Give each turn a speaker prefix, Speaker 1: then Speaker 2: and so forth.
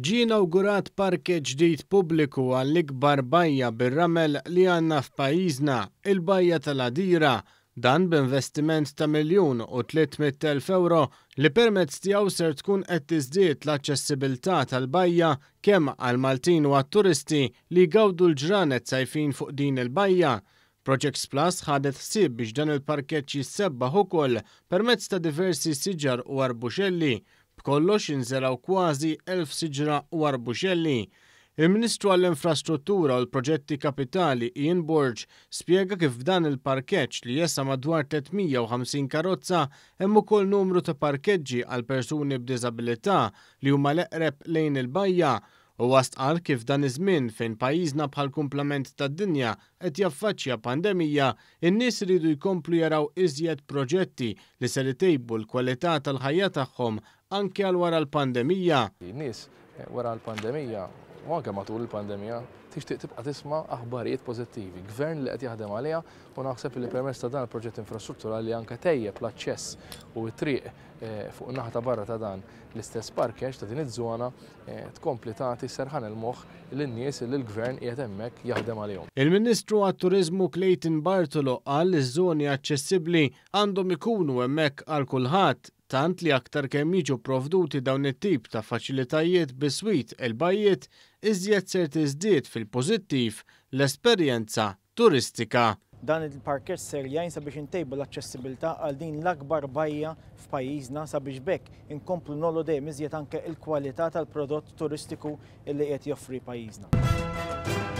Speaker 1: Ġie inawgurat parkeġġ ġdid pubbliku għall-ikbar bajja bir-ramel li għandna f'pajjiżna, il-Bajja tal-Għadira. Dan b'investiment ta' 1,300,000 ewro li permezz tiegħu ser tkun qed tiżdied l-aċċessibilità tal-bajja kemm għall-Maltin u għat-turisti li jgawdu l-ġranet sajfin fuq din il-bajja. Projects Plus ħadet ħsieb biex dan il-parkeġġ jissebbaħ ukoll permezz ta' diversi siġar u arbuxelli. B'kollox inżergħu kważi 1,000 siġra u arbuxelli. Il-Ministru għall-Infrastruttura u l-Proġetti Kapitali Ian Borg spjega kif f'dan il-parkeġġ li jesa' madwar 350 karozza hemm ukoll numru ta' parkeġġi għal persuni b'diżabilità li huma l-eqreb lejn il-bajja. Huwa stqarr kif f'dan iż-żmien fejn pajjiżna bħall-kumplament tad-dinja qed jaffaċċja pandemija, in-nies iridu jkomplu jaraw iżjed proġetti li ser itejbu l-kwalità tal-ħajja tagħhom anke għal wara l-pandemija.
Speaker 2: In-nies wara l-pandemija u anke matul il-pandemija tixtieq tibqa' tisma' aħbarijiet pożittivi. Gvern li qed jaħdem għaliha u naħseb li permezz ta' dan il-proġett infrastrutturali li anke tejjeb l-aċċess u t-triq fuq in-naħa ta' barra ta' dan l-istess parkeġġ ta' din iż-żona tkompli tagħti serħan il-moħħ lin-nies li l-Gvern qiegħed hemmhekk jaħdem għalihom.
Speaker 1: Il-Ministru għat-Turiżmu Clayton Bartolo qal li ż-żoni aċċessibbli għandhom ikunu hemmhekk għal kulħadd, tant li aktar kemm jiġu pprovduti dawn it-tip ta' faċilitajiet biswit il-bajjiet, iżjed ser tiżdied fil-pożittiv l-esperjenza turistika.
Speaker 3: Dan il-parkeġġ ser jgħin sabiex intejbu l-aċċessibilità għal din l-akbar bajja f'pajjiżna sabiex b'hekk inkomplu ngħollu dejjem iżjed anke l-kwalità tal-prodott turistiku li qiegħed joffri pajjiżna.